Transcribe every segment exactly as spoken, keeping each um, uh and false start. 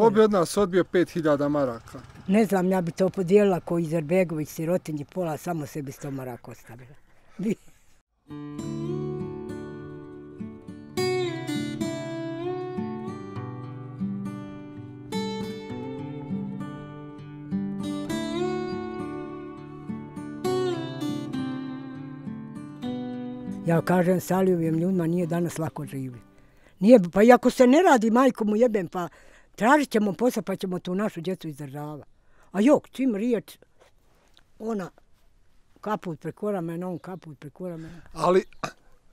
Ko bi od nas odbio pet hiljada maraka? Ne znam, ja bi to podijelila ko Izerbegović, sirotinji, pola, samo sebi sto maraka ostavila. Bi. Ja kažem Salijevim ljudima, nije danas lako živi. Nije, pa i ako se ne radi, majko mu jebem, pa tražit ćemo posao, pa ćemo tu našu djecu izdržavati. A jok, čim riječ, ona kaput preko ramena, on kaput preko ramena. Ali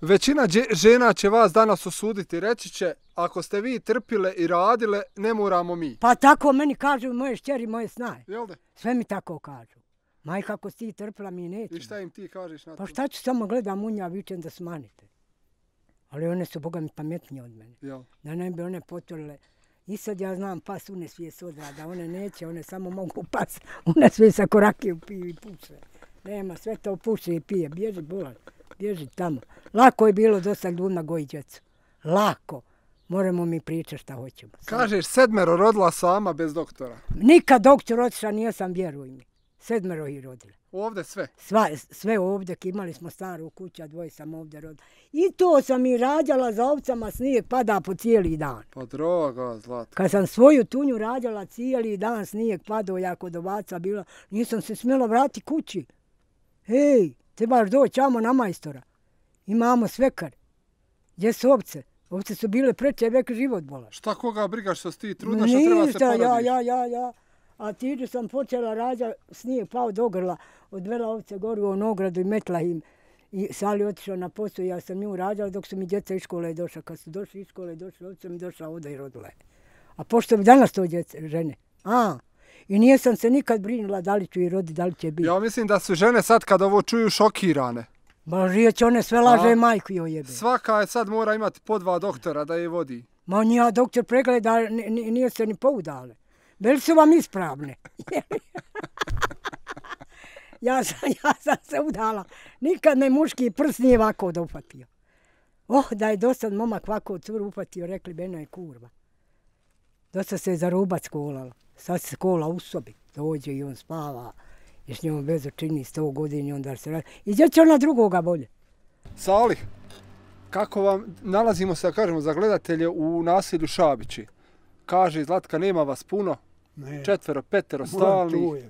većina žena će vas danas osuditi, reći će, ako ste vi trpile i radile, ne moramo mi. Pa tako meni kažu moje šćeri, moje snaje. Jel de? Sve mi tako kažu. Majka, ako si ti trpila, mi nećemo. I šta im ti kažeš na to? Pa šta ću, samo gledam unja, vičem da smanite. Ali one su, boga mi, pametnije od mene. Jel? Da ne bi one potvorile. I sad ja znam pas une svije s odrada, one neće, one samo mogu pas, one svije sa korakiju piju i puše. Nema, sve to puše i pije, bježi bolan, bježi tamo. Lako je bilo dosta ljudima goji djecu. Lako. Moramo mi pričati šta hoćemo. Kažeš, sedmero rodila sama bez doktora. Nikad doktor otišla nisam, vjeruj mi. Sedmero ih rodila. Ovdje sve? Sva, sve ovdje, imali smo staru kuću, a dvoje sam ovdje rodila. I to sam i rađala za ovcama, snijeg pada po cijeli dan. Pa droga, zlata. Kad sam svoju tunju rađala cijeli dan, snijeg padao, ja kod ovaca bila, nisam se smjela vrati kući. Hej, trebaš doći amo na majstora. Imamo svekar. Gdje su ovce? Ovce su bile preče vek život bola. Šta koga brigaš što si ti trudna što treba se porodiš? ja, ja, ja, ja. A tiđu sam počela rađa, snijeg pao do grla, odvela ovce goru u ogradu i metla im. I Sali otišao na posao i ja sam nju rađala dok su mi djeca iz škole došla. Kad su došli iz škole, došli ovce mi došla ovdje i rodila je. A pošto bi danas to djece, žene? A, i nije sam se nikad brinula da li ću i rodi, da li će biti. Ja mislim da su žene sad kad ovo čuju šokirane. Ma rijeć, one sve laže majku joj jebe. Svaka je sad mora imati po dva doktora da je vodi. Ma nija doktor pregleda, nije se ni poudale. Bili su vam ispravne. ja, sam, ja sam se udala. Nikad me muški prst nije ovako dofatio. Oh, da je dosad momak ovako curu ufatio, rekli Bena je kurva. Dosta se je za rubac kolala. Sad se kola u sobi. Dođe i on spava. I s njom vezu čini sto godina i onda se radi. I gdje će ona drugoga bolje? Sali, kako vam nalazimo se, da kažemo, za gledatelje u naselju Šabići? Kaže, Zlatka, nema vas puno. Ne. Četvero, petero, stalni.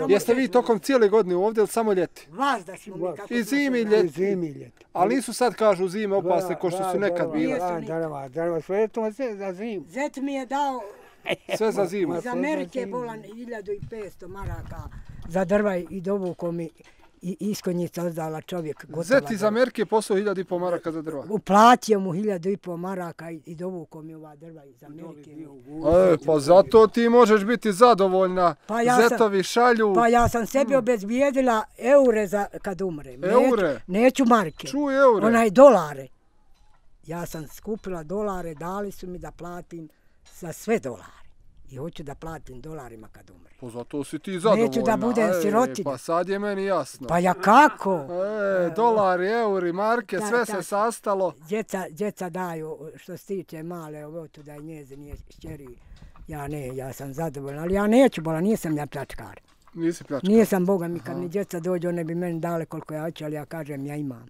Jeste vi tokom cijele godine ovdje ili samo ljeti? Vas da si mi kako... I zimi i ljeti. I zimi i ljeti. Ali nisu sad, kažu, zime opasne ko što su nekad bile. Da, drva, drva, sve je to za zimu. Zet mi je dao... Sve za zimu. Iz Amerike je bolan hiljadu i petsto maraka za drva i dovuko mi i iskonjica ozdala čovjek. Zet iz Amerike poslao hiljadu i po maraka za drva. Uplatio mu hiljadu i po maraka i, i dovuko mi ova drva iz Amerike. E, pa zato ti možeš biti zadovoljna. Pa ja Zetovi šalju. Pa ja sam sebi obezbijedila eure za kad umrem. Eure? Neću, neću marke. Čuj eure. Onaj dolare. Ja sam skupila dolare, dali su mi da platim za sve dolare. I hoću da platim dolarima kad umre. Pa zato si ti zadovoljna. Neću da budem sirotinja. Pa sad je meni jasno. Pa ja kako? E, dolari, euri, marke, sve se sastalo. Djeca, djeca daju, što se tiče male, ovo tu da je njezin šćeri. Ja ne, ja sam zadovoljna, ali ja neću bola, nisam ja pljačkar. Nisi pljačkar? Nisam, Boga mi, kad mi djeca dođu, one bi meni dale koliko ja hoću, ali ja kažem, ja imam.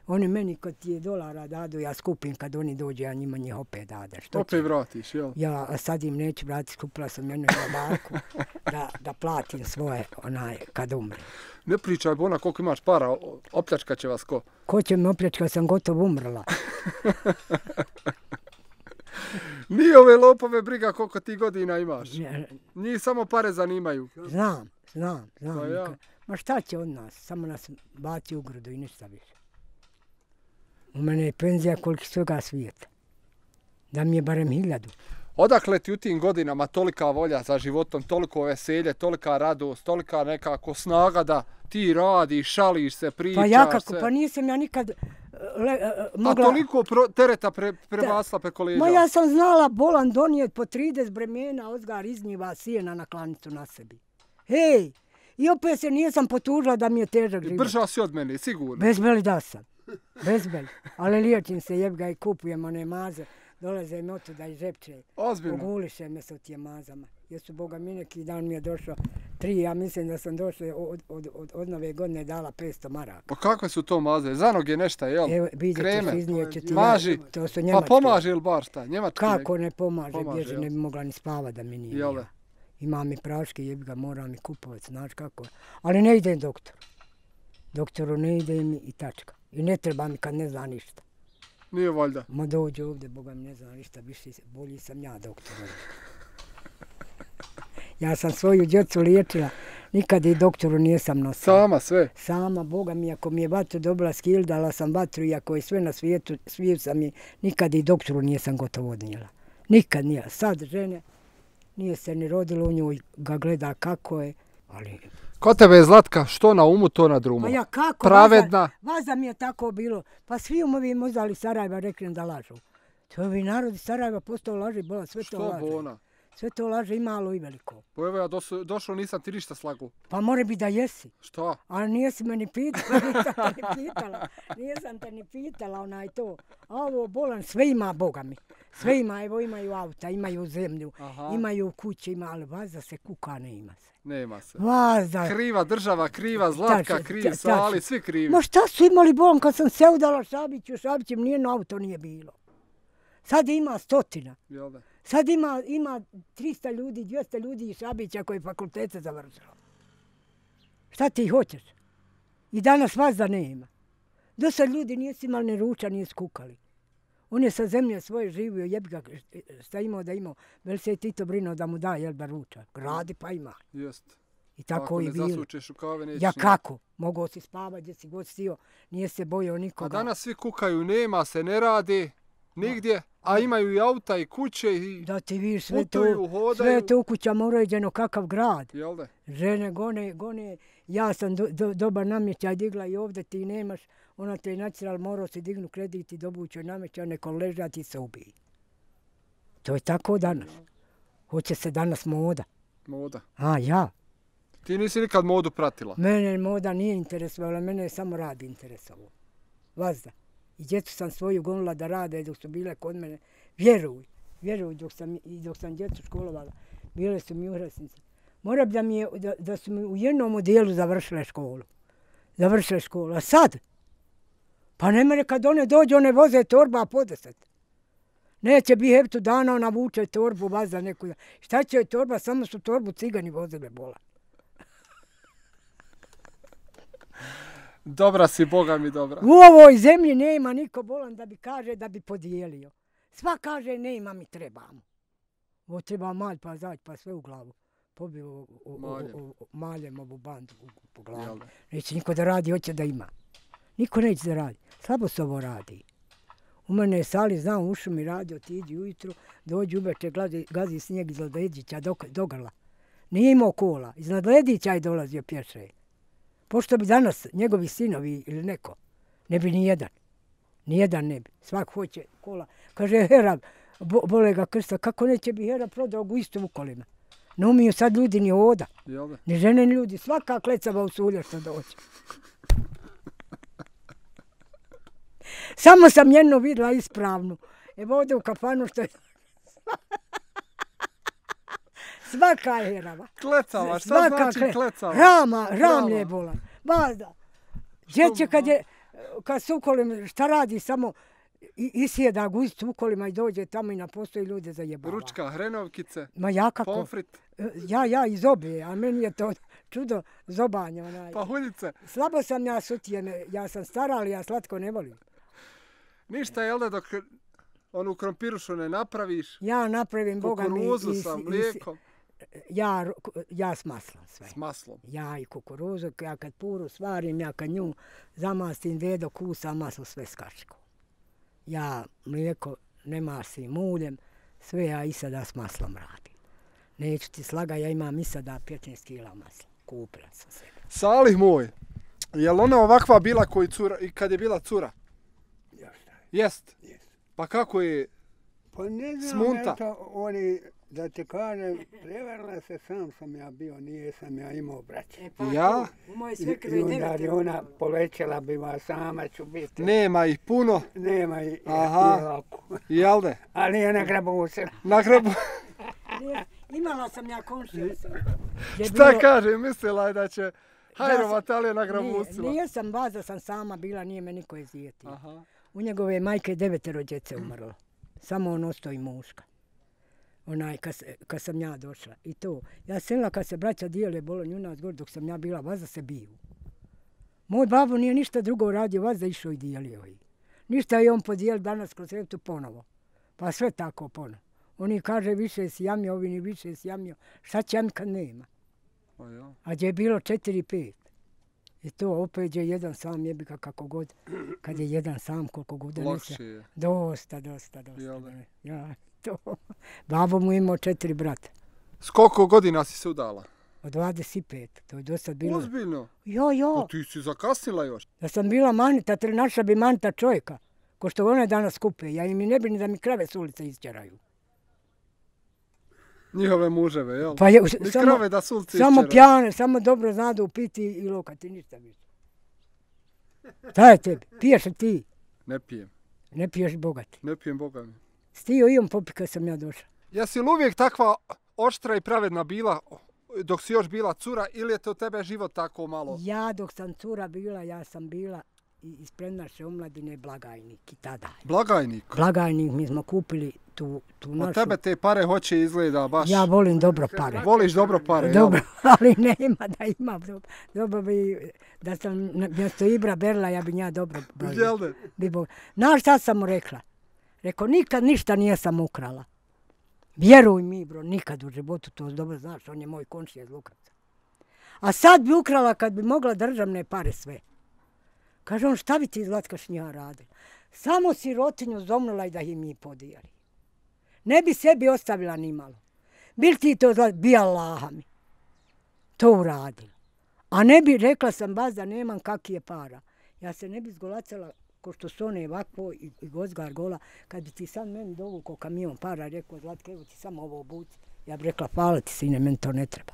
Oni meni kad ti je dolara dadu, ja skupim kad oni dođe, ja njima njih opet dade. Što opet će? Vratiš, jel? Ja a sad im neću vratiti, skupila sam jednu babarku da, da platim svoje onaj kad umre. Ne pričaj, Bona, koliko imaš para, opljačkat će vas ko? Ko će me opljačkat, sam gotovo umrla. Nije ove lopove briga koliko ti godina imaš. Njih samo pare zanimaju. Znam, znam, znam. Pa ja. Ma šta će od nas? Samo nas baci u grudu i ništa više. U mene je penzija koliko svega svijeta. Da mi je barem hiljadu. Odakle ti u tim godinama tolika volja za životom, toliko veselje, tolika radost, tolika nekako snaga da ti radiš, šališ se, pričaš se? Pa ja kako, pa nisam ja nikad le, uh, mogla... A toliko pro, tereta pre, prebasla preko leđa? Ma ja sam znala bolan donijet po trideset bremena, ozgar iznjiva sijena na klanicu na sebi. Hej, i opet se nisam potužila da mi je težak život. Brža si od mene, sigurno. Bezbeli da sam. Bezbeli. Ali liječim se, jeb ga i kupujem one maze. Dolaze mi otuda i žepče. Ozbiljno? Oguliše me sa tije mazama. Jesu Boga mi neki dan mi je došao tri, ja mislim da sam došla od, od, od, od nove godine dala petsto maraka. Pa kakve su to maze? Za noge nešto, jel? Evo, kreme? Ti, maži? To su njemačke. Pa pomaže ili bar šta? Njemačke? Kako ne pomaže? pomaže Bježe, ne bi mogla ni spava da mi nije. Jele? Ima mi praške, jebi ga, moram mi kupovati, znaš kako. Ali ne idem doktoru. Doktoru ne ide mi i tačka. I ne treba mi kad ne zna ništa. Nije valjda. Ma dođe ovdje, Boga mi ne zna ništa, više bolji sam ja doktor. Ja sam svoju djecu liječila, nikad i doktoru nisam nosila. Sama sve? Sama, Boga mi, ako mi je vatru dobila skil, dala sam vatru, iako je sve na svijetu, svijet sam i nikad i doktoru nisam gotovo odnijela. Nikad nije. Sad žene, nije se ni rodilo u njoj, ga gleda kako je, ali... Ko tebe je Zlatka, što na umu, to na drumu. Pa ja kako? Pravedna. Vaza, vaza mi je tako bilo. Pa svi umovi mozali Sarajeva rekli da lažu. To bi narod Sarajeva postao laži, bola, sve to laže. Što bona? Sve to laže i malo i veliko. Pa evo ja došao, došao nisam ti ništa slagu. Pa more bi da jesi. Šta? Ali nijesi me ni pitala, nisam te ni pitala. Nisam te ni pitala onaj to. A ovo bolan, sve ima, Boga mi. Sve ima, evo imaju auta, imaju zemlju, Aha. imaju kuće, ima, ali vaza se kuka, ne ima se. Nema se. Vaza. Kriva država, kriva Zlatka, tači, kriv tači. Sali, svi krivi. Ma šta su imali bolan kad sam se udala Šabiću, Šabićem nijedno auto nije bilo. Sad ima stotina. Jel da? Sad ima, ima trista ljudi, dvjesto ljudi iz Šabića koji fakultete završilo. Šta ti hoćeš? I danas vas da nema. Do sad ljudi nisu imali ni ruča, nisu kukali. On je sa zemlje svoje živio, jebi ga, šta imao da imao. Vel se je Tito brinuo da mu da, jel da ruča. Gradi pa ima. Jest. I tako Ako i bilo. Ako ne zasučeš u kave, nećeš. Ja kako? Mogao si spavati gdje si god stio, nije se bojao nikoga. A danas svi kukaju, nema se, ne radi, nigdje. A imaju i auta i kuće i da ti vidiš sve putuju, to, hodaju. sve to u kućama uređeno kakav grad. Jel da? Žene gone, gone, ja sam do, do, dobar namještaj digla i ovdje ti nemaš, ona te je naciral, morao si dignu kredit i dobućoj namještaj, neko ležati i se ubiji. To je tako danas. Hoće se danas moda. Moda? A, ja. Ti nisi nikad modu pratila? Mene moda nije interesovala, mene je samo rad interesovao. Vazda. I djecu sam svoju gonila da rade dok su bile kod mene. Vjeruj, vjeruj dok sam, i dok sam djecu školovala. Bile su mi uhrasnice. Mora bi da, mi je, da, da su mi u jednom modelu završile školu. Završile školu. A sad? Pa ne mere kad one dođe, one voze torba po deset. Neće bi heptu dana, ona vuče torbu, vazda neku. Šta će joj torba? Samo su torbu cigani vozile bola. Dobra si, Boga mi dobra. U ovoj zemlji nema niko bolan da bi kaže da bi podijelio. Sva kaže nema mi trebamo. Ovo treba malj pa zać pa sve u glavu. Pobio maljem. maljem ovu bandu po glavu. Neće niko da radi, hoće da ima. Niko neće da radi. Slabo se ovo radi. U mene je Sali, znam, ušu mi radi, otiđi ujutru, dođi uveče, gazi, gazi snijeg iz Ledića do, do grla. Nije imao kola. Iz Ledića je dolazio pješe. Pošto bi danas njegovi sinovi ili neko, ne bi ni jedan. Nijedan ne bi. Svak hoće kola. Kaže, Hera, bo, bole ga krsta, kako neće bi Hera prodao u istu u kolima. Ne umiju sad ljudi ni hoda. Ni žene, ni ljudi. Svaka klecava u sulje što dođe. Samo sam jednu vidjela ispravnu. Evo ovdje u kafanu što je... Svaka je herava. Klecava, šta znači kle... klecava? Rama, ram je bolan. Bazda. Djeće kad je, kad se ukolim, šta radi, samo isjeda guzicu ukolima i dođe tamo i na postoji ljude zajebava. Ručka, hrenovkice, ma ja kako? pomfrit. Ja, ja iz obje, a meni je to čudo zobanja. Onaj. Pahuljice. Slabo sam ja sutije, ja sam stara, ali ja slatko ne volim. Ništa, jel da dok onu krompirušu ne napraviš? Ja napravim, Boga mi. Kukuruzu sa mlijekom. Ja, ja s maslom sve. S maslom? Ja i kukuruzu, ja kad puru svarim, ja kad nju zamastim, vedo, kusa, maslo, sve s kašikom. Ja mlijeko ne masim uljem, sve ja i sada s maslom radim. Neću ti slaga, ja imam i sada petnaest kila masla. Kupila sam se. Salih moj, je li ona ovakva bila koji cura, i kad je bila cura? Ja šta je. Jest? Jest. Pa kako je pa ne znam, smunta? Eto, oni Da ti kažem, prevarila se, sam sam ja bio, nije sam ja imao braće. E, pa, Ja? U moje I, svekre i onda devet. je ona povećala bi vas, sama ću biti. Nema ih puno, Nema i, Aha. i ovako. jel de? Ali je na grabusila. Na grabu. Nije- Imala sam ja komšiju sam. Je Šta bilo- kaže, mislila je da će Ja hajrovat, sam- ali je na Nije, grabusila. nije sam baza, sam sama bila, nije me niko izdijetio. Aha. U njegove majke devetero djece umrlo. Samo on ostao i muška. Onaj, kad, se- kad sam ja došla. I to. Ja selila kad se braća dijele bolonju u nas gore, dok sam ja bila, vaza se biju. Moj babo nije ništa drugo radio, vaza išao i dijelio ih. Ništa je on podijelio danas kroz reptu ponovo. Pa sve tako ponovo. Oni kaže više si jamio, ovi ni više si jamio. Šta će jami kad nema? Pa ja. A gdje je bilo četiri, pet. I to opet je jedan sam jebika kako god. Kad je jedan sam koliko god donese. Lakše je. Dosta, dosta, dosta. Jel da? Ja, to. Babo mu imao četiri brata. S koliko godina si se udala? Od dvadeset pet. To je dosta bilo. Ozbiljno? Jo, Pa jo. ti si zakasnila još. Da sam bila manita, tri naša bi manita čovjeka. Ko što one danas kupe. Ja im i ne bi ni da mi krave s ulice isćeraju. Njihove muževe, jel? Pa je, Ni samo, krave da su ulici samo iščeraju. pjane, samo dobro znadu piti i lokati, ništa više. Šta je tebi? Piješ li ti? Ne pijem. Ne piješ bogati. Ne pijem, Boga mi. Stio i on popi kad sam ja došla. Jesi li uvijek takva oštra i pravedna bila dok si još bila cura ili je to tebe život tako malo? Ja dok sam cura bila, ja sam bila i ispred naše omladine blagajnik i tada. Blagajnik. Blagajnik mi smo kupili tu, tu našu. Od tebe te pare hoće izgleda baš. Ja volim dobro pare. Voliš dobro pare, jel? Dobro, ali nema da imam dobro. Dobro bi, da sam na- mjesto Ibra Berla, ja bi nja dobro brojila. Jel de? Bi Bog. Znaš šta sam mu rekla? Rekao, nikad ništa nijesam ukrala. Vjeruj mi, bro, nikad u životu, to dobro znaš, on je moj komšija iz Lukavca. A sad bi ukrala kad bi mogla državne pare sve. Kaže on, šta bi ti Zlatka šnja radila? Samo sirotinju zomnula i da ih mi podijeli. Ne bi sebi ostavila ni malo. Bil ti to Zlatka? Bi Allaha mi. To uradila. A ne bi, rekla sam baz da nemam kakije para. Ja se ne bi zgolacala ko što su one ovakvo i, i Gozgar gola, kad bi ti sad meni dovukao kamion para, rekao Zlatka, evo ti samo ovo obuci. Ja bi rekla, hvala ti sine, meni to ne treba.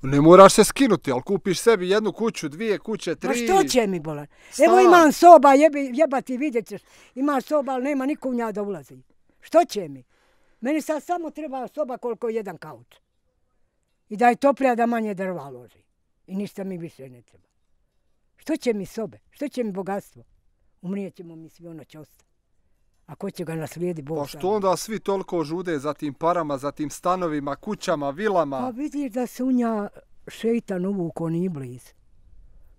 Ne moraš se skinuti, ali kupiš sebi jednu kuću, dvije kuće, tri. Ma što će mi bolan? Stan. Evo imam soba, jebi, jebati vidjet ćeš. Imaš soba, ali nema niko u nja da ulazi. Što će mi? Meni sad samo treba soba koliko je jedan kauč. I da je toplija da manje drva loži. I ništa mi više ne treba. Što će mi sobe? Što će mi bogatstvo? Umrijet ćemo mi svi, ono će ostati. A ko će ga naslijedi, Bog Pa sam. što onda svi toliko žude za tim parama, za tim stanovima, kućama, vilama? Pa vidiš da se u nja šeitan uvukao ni bliz.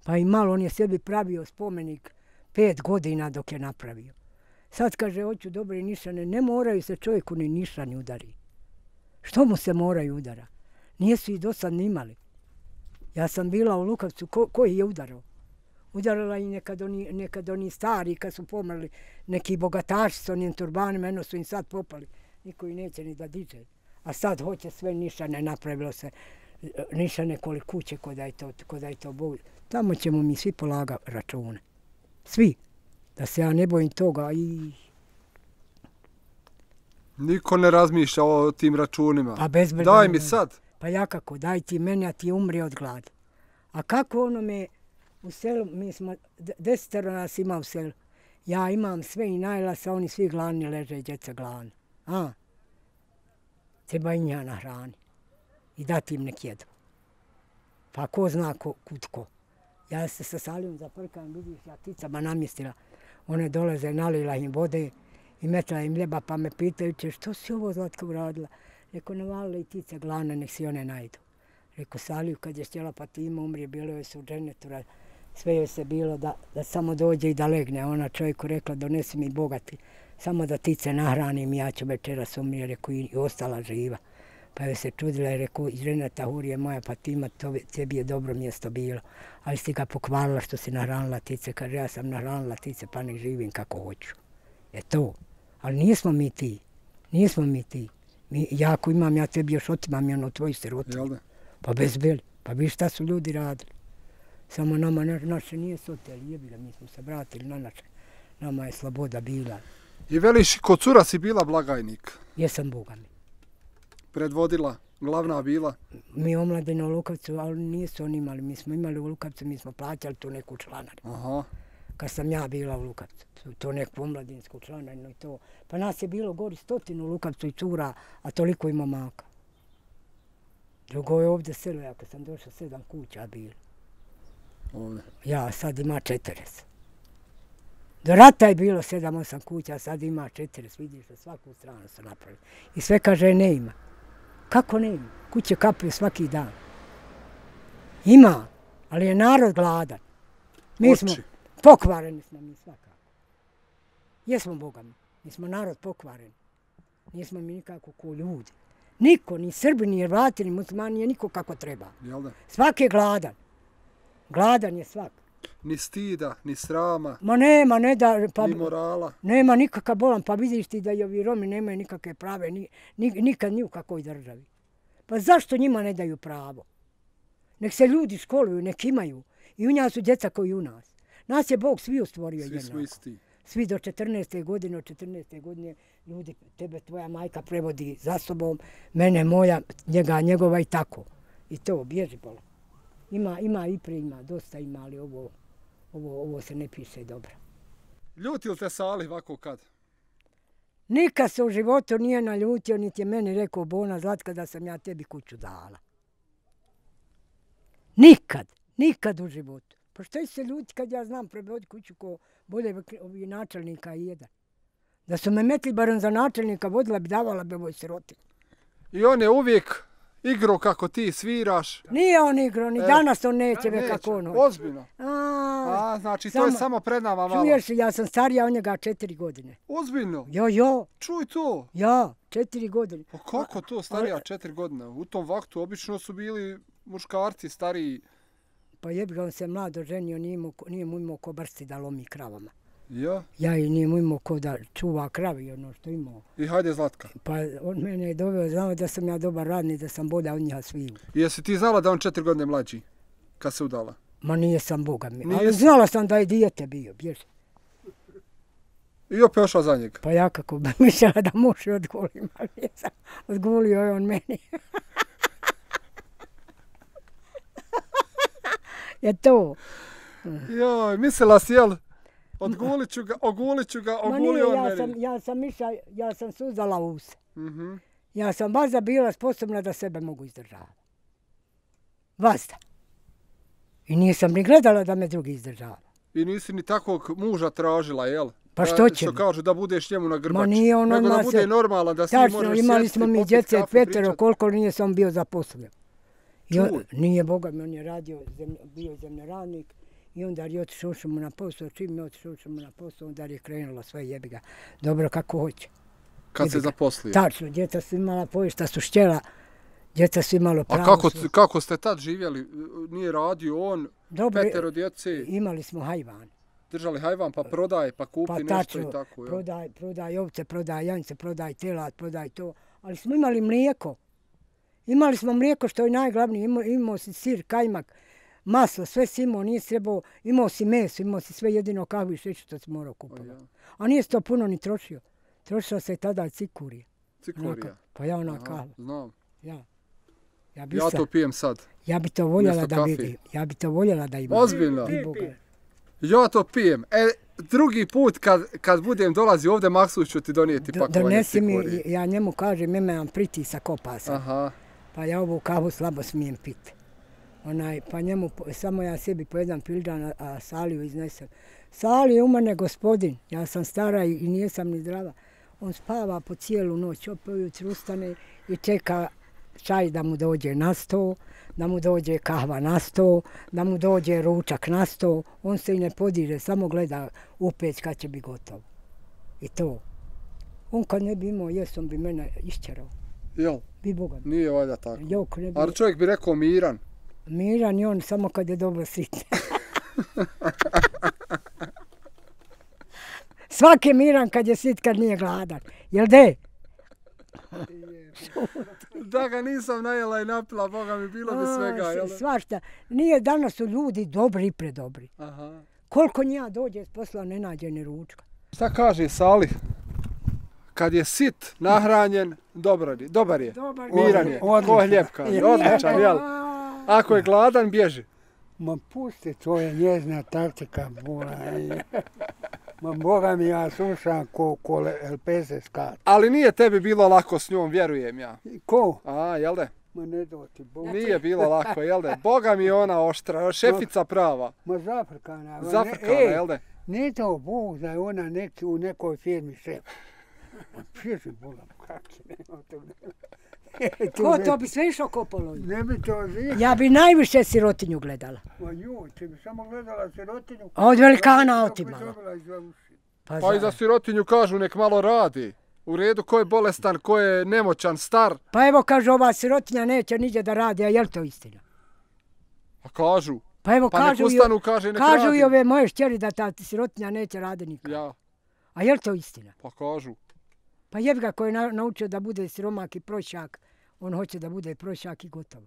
Pa i malo on je sebi pravio spomenik pet godina dok je napravio. Sad kaže, hoću dobre nišane, ne moraju se čovjeku ni nišani udari. Što mu se moraju udara? Nijesu ih do sad ni imali. Ja sam bila u Lukavcu, ko, koji je udarao? Udarala i nekad oni, nekad oni stari, kad su pomrli, neki bogataši s onim turbanima, eno su im sad popali. Niko ih neće ni da diže. A sad hoće sve nišane, napravilo se nišane koliko kuće, ko da je to, ko da je to bolje. Tamo ćemo mi svi polaga račune. Svi. Da se ja ne bojim toga i... Niko ne razmišlja o tim računima. Pa bezbedno. Daj mi sad. Pa ja kako, daj ti meni, a ti umri od glada. A kako ono me u selu, mi smo, de- desetero nas ima u selu. Ja imam sve i najlasa, oni svi gladni leže, djeca gladni. A? Treba i nja na hrani. I dati im nek jedu. Pa ko zna ko, kud ko. Ja se sa Salijom zaprkam, vidiš, ja ticama namjestila. One dolaze, nalila im vode i metla im ljeba, pa me pitaju će, što si ovo Zlatka uradila? Rekao, navalila i tice glavne, nek si one najdu. Rekao, Saliju, kad je htjela Fatima umrije, bilo joj se u dženetu, sve joj se bilo da, da samo dođe i da legne. Ona čovjeku rekla, donesi mi bogati, samo da tice nahranim, ja ću večeras umrije, rekao, i ostala živa. Pa joj se čudila i rekao, iz dženeta Hurije moja Fatima, to, tebi je dobro mjesto bilo, ali si ga pokvarila što si nahranila tice. Kaže, ja sam nahranila tice, pa nek živim kako hoću. Je to. Ali nismo mi ti. Nismo mi ti. Mi, ja ako imam, ja tebi još otimam i ono tvoju sirotu. Jel da? Pa bez beli. Pa vi šta su ljudi radili. Samo nama na, naše nije soteli, jebila, mi smo se vratili na naše. Nama je sloboda bila. I veliš, kod cura si bila blagajnik. Jesam Boga mi. predvodila, glavna bila? Mi omladine u Lukavcu, ali nisu oni imali. Mi smo imali u Lukavcu, mi smo plaćali tu neku članarinu. Aha. Kad sam ja bila u Lukavcu, to neku omladinsku članarinu i to. Pa nas je bilo gori stotinu u Lukavcu i cura, a toliko ima maka. Drugo je ovdje selo, ja kad sam došla, sedam kuća bilo. Ovdje? Ja, sad ima četrdeset. Do rata je bilo sedam, osam kuća, sad ima četrdeset, vidiš da svaku stranu su napravili. I sve kaže ne ima. Kako ne ima? Kuće kapaju svaki dan. Ima, ali je narod gladan. Mi smo pokvareni smo mi svakako. Jesmo Boga mi. Mi smo narod pokvareni. Nismo mi nikako ko ljudi. Niko, ni Srbi, ni Hrvati, ni muslimani, nije niko kako treba. Svaki je gladan. Gladan je svak. Ni stida, ni srama, ma nema, ne da, pa, ni morala. Nema nikakav bolan, pa vidiš ti da i ovi Romi nemaju nikakve prave, ni, ni, nikad ni u kakvoj državi. Pa zašto njima ne daju pravo? Nek se ljudi školuju, nek imaju. I u njih su djeca koji u nas. Nas je Bog svi stvorio jednako. Svi smo isti. Svi do četrnaeste godine, od četrnaeste godine ljudi, tebe tvoja majka prevodi za sobom, mene moja, njega, njegova i tako. I to, bježi bolan. Ima, ima i pre ima, dosta ima, ali ovo, ovo, ovo se ne piše dobro. Ljuti li te Salih ovako kad? Nikad se u životu nije naljutio, niti je meni rekao Bona Zlatka da sam ja tebi kuću dala. Nikad, nikad u životu. Pa što se ljuti kad ja znam prebodi kuću ko bolje ovi načelnika i jedan. Da su me metli barem za načelnika, vodila bi, davala bi ovoj siroti. I on je uvijek igrao kako ti sviraš. Nije on igrao, ni e, danas on neće ve kako on hoće. Ozbiljno? A, A znači samo, to je samo pred nama malo. Čuješ, ja sam starija od njega četiri godine. Ozbiljno? Jo, jo. Čuj to. Ja, četiri godine. Pa kako to starija četiri godine? U tom vaktu obično su bili muškarci stariji. Pa jebi ga, on se mlado ženio, nije mu, nije mu imao ko brsti da lomi kravama. Ja? Ja i nije mu imao ko da čuva kravi, ono što imao. I hajde Zlatka. Pa on mene je doveo, znao da sam ja dobar radnik, da sam bolja od njega sviju. I jesi ti znala da on četiri godine mlađi, kad se udala? Ma nije sam Boga mi, ali znala sam da je dijete bio, bježi. I opet ošla za njega? Pa ja kako bi mišljala da može odgolim, ali jesam, odgulio je on meni. Je to. Joj, mislila si, jel? Odgulit ću ga, ogulit ću ga, ogulio on meni. Sam, ja sam mišla, ja sam suzala use. Mm-hmm. Ja sam vazda bila sposobna da sebe mogu izdržavati. Vazda. I nisam ni gledala da me drugi izdržava. I nisi ni takvog muža tražila, jel? Pa što će mi? Što kažu da budeš njemu na grbači. Ma nije on nego da bude se... normalan, da svi Tačno, možeš sjesti, imali smo mi djece petero, koliko nije sam bio zaposlen. Čuj. Nije Boga mi, on je radio, zemlj, bio zemljoradnik. I onda je otišao mu na posao, čim je otišao mu na posao, onda je krenulo sve jebi ga. Dobro kako hoće. Kad jebi se zaposlio? Tačno, djeca su imala poješta, su štjela, djeca su imalo pravo. A kako, kako ste tad živjeli? Nije radio on, dobro, petero djece? Imali smo hajvan. Držali hajvan, pa prodaj, pa kupi pa, nešto tačno, i tako. Ja. Prodaj, prodaj ovce, prodaj jance, prodaj telat, prodaj to. Ali smo imali mlijeko. Imali smo mlijeko što je najglavnije, imao, imao si sir, kajmak, maslo, sve si imao, nije trebao, imao si meso, imao si sve jedino kahvu i šećer što si morao kupovati. Ja. A nije se to puno ni trošio. Trošila se tada cikurija. Cikurija? Onaka, pa ja ona kahva. Znam. Ja. Ja, bi ja to pijem sad. Ja bi to voljela da vidim. Ja bi to voljela da imam. Ozbiljno? Ja to pijem. E, drugi put kad, kad budem dolazi ovdje, Maksus ću ti donijeti pakovanje cikurije. Donesi mi, ja njemu kažem, imam pritisak opasa. Aha. Pa ja ovu kavu slabo smijem piti. Onaj, pa njemu, samo ja sebi po jedan fildan, a, a Saliju iznesem. Sali je u mene gospodin, ja sam stara i, i nijesam ni zdrava. On spava po cijelu noć, opet ujutru ustane i čeka čaj da mu dođe na sto, da mu dođe kahva na sto, da mu dođe ručak na sto. On se i ne podiže, samo gleda u peć kad će biti gotovo. I to. On kad ne bi imao jest, on bi mene išćerao. Jel? Bi Boga. Nije valjda tako. Jok, ne bi... Ali čovjek bi rekao miran. Miran je on samo kad je dobro sit. Svaki je miran kad je sit, kad nije gladan. Jel de? Da ga nisam najela i napila, Boga mi bilo bi svega. A, svašta. Nije, danas su ljudi dobri i predobri. Aha. Koliko njega dođe s posla ne nađe ni ručka. Šta kaže Salih? kad je sit, nahranjen, dobar je. Dobar je. Dobar Miran je. Ko hljepka. Odličan, jel? Ako je gladan, bježi. Ma pusti, to je njezna taktika. Ma Boga mi, ja slušam ko, ko el pe se skat. Ali nije tebi bilo lako s njom, vjerujem ja. Ko? A, jel de? Ma ne doti Bog. Nije bilo lako, jel de? Boga mi je ona oštra, šefica prava. Ma zafrkana. Zafrkana, e, jel de? Nije to Bog da je ona neki, u nekoj firmi šef. Pježi Boga, kak se nema to. Ko to bi sve išao kopalo? Ne bi to zvijem. Ja bi najviše sirotinju gledala. Ma joj, ti bi samo gledala sirotinju. A od velikana otimala. Pa, pa i za sirotinju kažu nek malo radi. U redu, ko je bolestan, ko je nemoćan, star. Pa evo kaže ova sirotinja neće niđe da radi, a je li to istina? A kažu. Pa evo pa kažu, nek ustanu, kaže, nek kažu radi. i ove moje šćeri da ta sirotinja neće radi nikad. Ja. A je li to istina? Pa kažu. Pa jebi ga ko je na, naučio da bude siromak i prošak, on hoće da bude prošak i gotovo.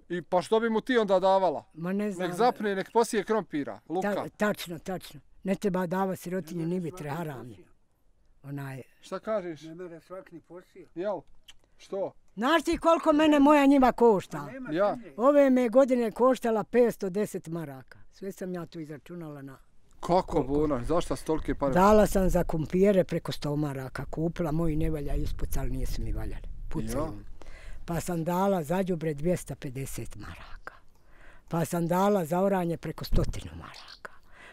I pa što bi mu ti onda davala? Ma ne znam. Nek zapne, nek posije krompira, luka. Ta, tačno, tačno. Ne treba dava sirotinju ni vitre, haram je. Onaj... Šta kažeš? Ne mere svak ni posije. Jel? Što? Znaš ti koliko mene moja njiva košta? Ja. Ove me godine koštala petsto deset maraka. Sve sam ja tu izračunala na... Kako bona? Zašto su tolike pare? Dala sam za kumpire preko sto maraka. Kupila, moji ne valja ispucali, nisu mi valjali. Pucaju. Ja. Pa sam dala za đubre dvjesto pedeset maraka. Pa sam dala za oranje preko stotinu maraka.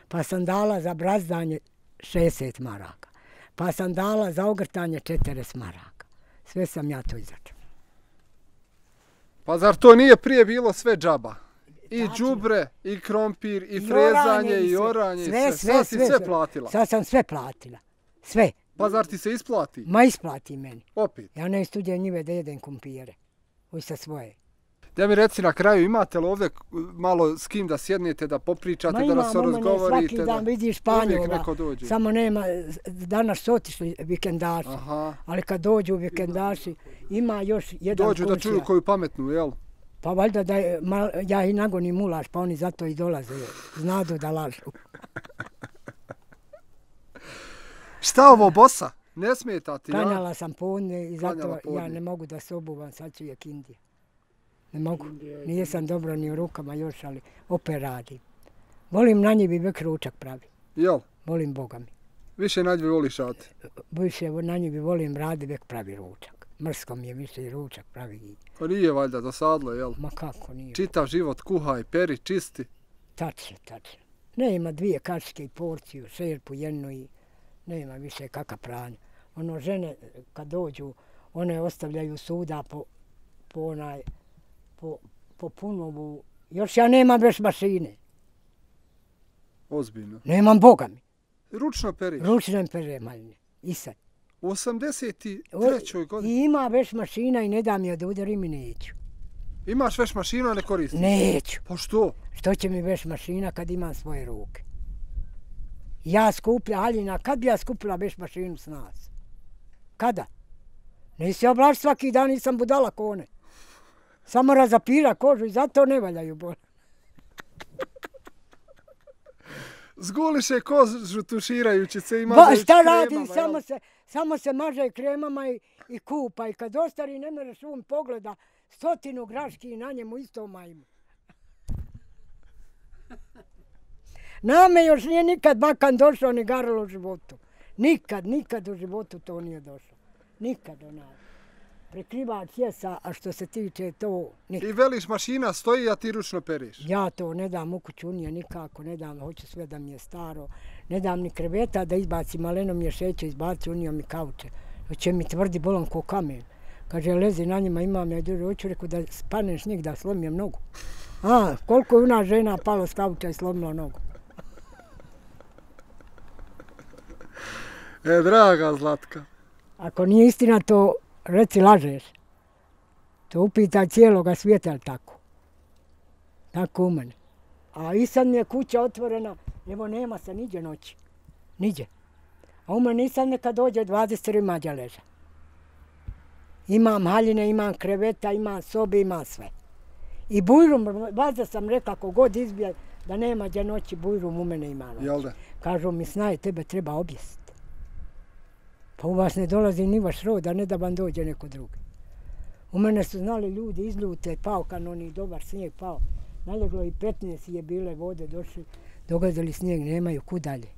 Pa sam dala za brazdanje šezdeset maraka. Pa sam dala za ogrtanje četrdeset maraka. Sve sam ja to izračunala. Pa zar to nije prije bilo sve džaba? I đubre, i krompir, i, i frezanje, i oranje, i sve. Sve, sve, sad si sve, sve platila. Sad sam sve platila. Sve. Pa zar ti se isplati? Ma isplati meni. Opet? Ja ne studijem njive da jedem kumpire. Uj sa svoje. Da mi reci na kraju, imate li ovdje malo s kim da sjednete, da popričate, Ma da nas razgovorite? Ma imam, svaki dan da... vidiš Španjola. Samo nema, danas su otišli vikendaši. Aha. Ali kad dođu vikendaši, ima još jedan dođu komšija. Da čuju koju pametnu, jel? Pa valjda da je, mal, ja i nagonim mulaš, pa oni zato i dolaze. Znadu da lažu. Šta ovo, bosa? Ne smeta ti, ja? Klanjala sam podne i zato ja ne mogu da se obuvam, sad ću je kindija. Ne mogu, nije sam dobro ni u rukama još, ali opet radim. Volim na njivi vek ručak pravi. Jel? Volim Boga mi. Više na njivi voliš radi? Više na njivi volim radi, vek pravi ručak. Mrsko mi je više i ručak pravi. Pa nije valjda, dosadlo, jel? Ma kako nije. Čitav život kuhaj, peri, čisti. Tačno, tačno. Ne ima dvije kačke i porciju, šerpu jednu i ne ima više kaka pranja. Ono, žene kad dođu, one ostavljaju suda po, po onaj, po, po punovu. Još ja nemam već mašine. Ozbiljno. Nemam Boga mi. Ručno periš? Ručno perem, maljne. I sad. U osamdeset trećoj godini? I ima već mašina i ne da mi da udarim i neću. Imaš već mašinu, a ne koristiš? Neću. Pa što? Što će mi već mašina kad imam svoje ruke? Ja skuplja, Aljina, kad bi ja skupila već mašinu s nas? Kada? Nisi oblaš svaki dan, nisam budala kone. Samo razapira kožu i zato ne valjaju bol. Zguliše kožu tuširajući se i maže kremama. Šta radi? Samo se, samo se maže kremama i, i kupa. I kad ostari ne mereš um pogleda stotinu graški na njemu isto majmu. Name još nije nikad bakan došao ni garalo u životu. Nikad, nikad u životu to nije došao. Nikad onaj. Prekrivač jesa, a što se tiče to nikad. I veliš mašina stoji, a ti ručno periš? Ja to ne dam u kuću unije nikako, ne dam, hoću sve da mi je staro. Ne dam ni kreveta da izbacim, maleno mi je šeće, izbaci unio mi kauče. Hoće mi tvrdi bolom ko kamen. Kaže, lezi na njima, imam ja duže, hoću reku da spaneš njih da slomim nogu. A, koliko je ona žena palo s kauča i slomila nogu. E, draga Zlatka. Ako nije istina, to reci lažeš. To upitaj cijeloga svijeta, ali tako. Tako u mene. A i sad mi je kuća otvorena, evo nema se niđe noći. Niđe. A u mene i sad neka dođe dvadeset mađa leža. Imam haljine, imam kreveta, imam sobe, imam sve. I bujrum, vazda sam rekla, ako god izbija da nema gdje noći, bujrum u mene ima noći. Jel da? Kažu mi, snaj, tebe treba objesiti. Pa u vas ne dolazi ni vaš rod, a ne da vam dođe neko drugi. U mene su znali ljudi izljute, pao kanoni, dobar snijeg pao. Naleglo i petnaest je bile vode, došli, događali snijeg, nemaju kud dalje.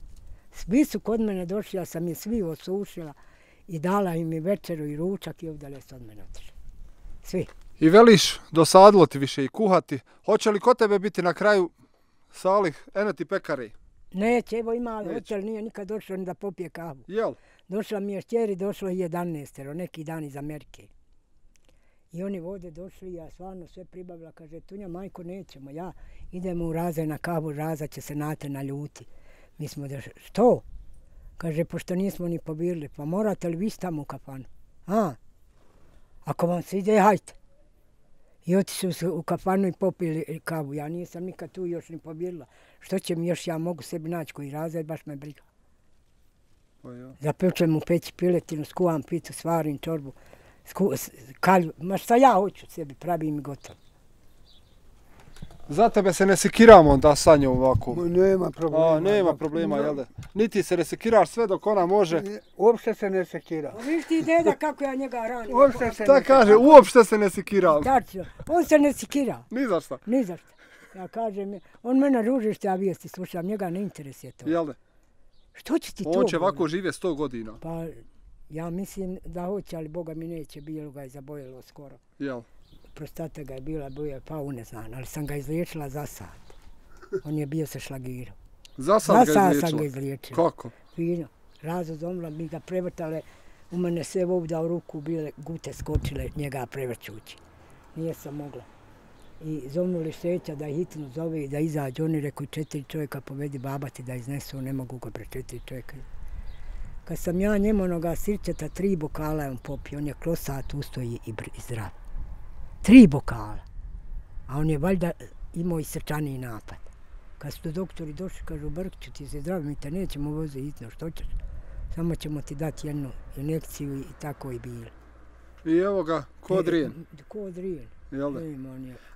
Svi su kod mene došli, ja sam je svi osušila i dala im i večeru i ručak i ovdje su od mene otišli. Svi. I veliš, dosadilo ti više i kuhati. Hoće li kod tebe biti na kraju Salih, eno ti pekari? Neće, evo ima hotel, nije nikad došlo ni da popije kavu. Jel? Došla mi je šćeri, došlo je jedanaestero, neki dan iz Amerike. I oni vode došli, ja stvarno sve pribavila, kaže, Tunja, majko, nećemo, ja idemo u Razaj na kavu, Raza će se nate na ljuti. Mi smo došli, što? Kaže, pošto nismo ni pobirali, pa morate li vi tamo u kafanu? A? Ako vam se ide, hajte. I otišli su u kafanu i popili kavu, ja nisam nikad tu još ni pobirala. Što će mi još, ja mogu sebi naći koji Razaj, baš me briga. Pa ja. Zapečem u peći piletinu, skuvam pitu, svarim čorbu. Kalju, ma šta ja hoću sebi, pravim i gotovo. Za tebe se ne sekiramo onda sa njom ovako? Ma nema problema. A, nema problema, jel da? Niti se ne sekiraš sve dok ona može? Uopšte se ne sekira. Viš ti deda kako ja njega ranim. Uopšte se ne sekira. Šta kaže, uopšte se ne sekiram? Tačno, on se ne sekira. Ni za šta? Ni za šta. Ja kažem, on mene ruži što ja vijesti slušam, njega ne interesuje to. Jel da? Što će ti to? On će ovako žive sto godina. Pa, ja mislim da hoće, ali Boga mi neće, bilo ga je zabojilo skoro. Jel? Prostata ga je bila, bio je pao uneznan, ali sam ga izliječila za sat. On je bio sa šlagirom. Za sat za ga izliječila? Za sat sam ga izliječila. Kako? Fino. Razo zomla, mi ga prevrtale, u mene sve ovdje u ruku bile gute skočile, njega prevrćući. Nije sam mogla. I zomnuli šeća da hitno zove i da izađe. Oni rekao, četiri čovjeka povedi babati da iznesu, ne mogu ga pre četiri čovjeka. Kad sam ja njemu onoga sirćeta, tri bokala je on popio, on je klosat, ustoji i zdrav. Tri bokala. A on je valjda imao i srčaniji napad. Kad su doktori došli, kažu, Brkiću, ti se zdrav, mi te nećemo voziti hitno, što ćeš? Samo ćemo ti dati jednu injekciju i tako i bilo. I evo ga, ko drijen. Ko drijen. Jel da?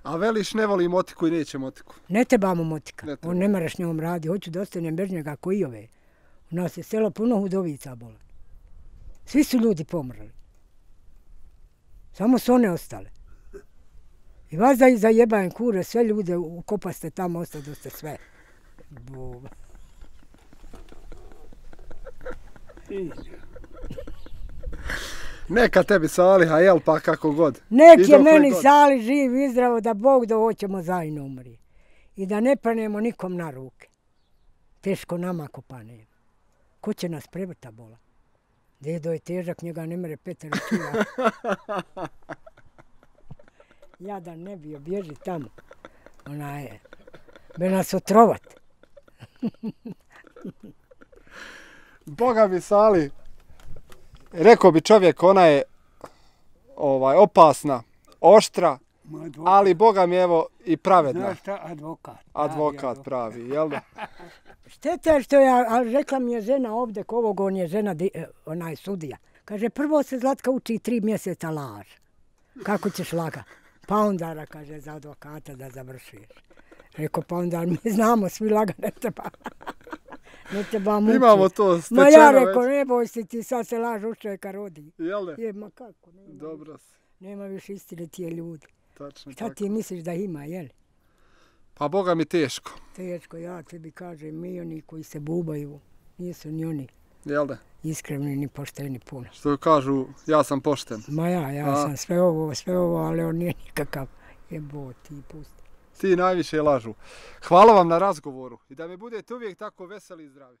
A veliš ne voli motiku i neće motiku? Ne trebamo motika. Ne treba. On ne maraš njom radi. Hoću da ostanem bez njega ko i ove. U nas je selo puno hudovica bola. Svi su ljudi pomrli. Samo su one ostale. I vas da zajebajem kure, sve ljude ukopaste tamo, ostadoste sve. Boba. Neka tebi Saliha, jel pa kako god. Nek je meni god. Sali živ i zdravo da Bog da hoćemo zajedno umri. I da ne panemo nikom na ruke. Teško nama ako panemo. Ko će nas prevrta bola? Dedo je težak, njega ne mere Petar učila. Ja da ne bio, bježi tamo. Ona je. Be nas otrovat. Boga mi Sali. Rekao bi čovjek, ona je ovaj, opasna, oštra, ali Boga mi evo i pravedna. Znaš šta, advokat. Advokat pravi, jel da? Šteta što ja, ali rekla mi je žena ovdje, ovog on je žena, onaj sudija. Kaže, prvo se Zlatka uči tri mjeseca laž. Kako ćeš laga? Pa onda, kaže, za advokata da završiš. Rekao, pa onda mi znamo, svi laga ne treba. Ne treba mučiti. Imamo to stečeno već. Ma ja rekao, ne boj si ti, sad se laž u čovjeka rodi. Jel da? Je, ma kako? Nema, dobro si. Nema više istine tije ljudi. Tačno šta tako. Ti misliš da ima, jel? Pa Boga mi teško. Teško, ja tebi kažem, mi oni koji se bubaju, nisu ni oni. Jel da? Iskreni ni pošteni puno. Što kažu, ja sam pošten. Ma ja, ja A? sam sve ovo, sve ovo, ali on nije nikakav. Jebo, ti pusti. Ti najviše lažu. Hvala vam na razgovoru i da mi budete uvijek tako veseli i zdravi.